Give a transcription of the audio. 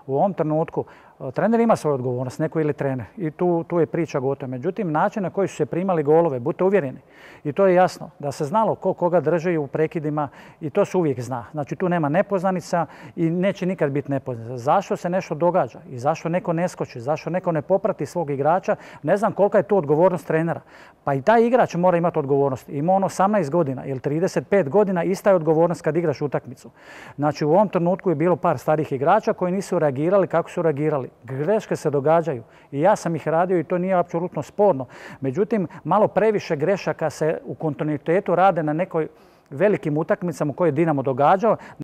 U ovom trenutku trener ima svoju odgovornost, neko ili trener. I tu je priča gotova. Međutim, način na koji su se primali golove, budite uvjereni. I to je jasno, da se znalo ko koga drži u prekidima i to se uvijek zna. Znači tu nema nepoznanica i neće nikad biti nepoznanica. Zašto se nešto događa i zašto neko ne skoči, zašto neko ne poprati svog igrača, ne znam kolika je tu odgovornost trenera. Pa i taj igrač mora imati odgovornost. Ima on 18 godina ili 35 godina, ista je odgovornost kad igraš utakmicu. Znači u ovom trenutku je bilo par starih igrača koji nisu reagirali kako su reagirali. Greške se događaju i ja sam ih radio i to nije apsolutno sporno. Međutim, malo previše grešaka se u kontinuitetu rade na nekoj velikim utakmicama u kojoj je Dinamo događao.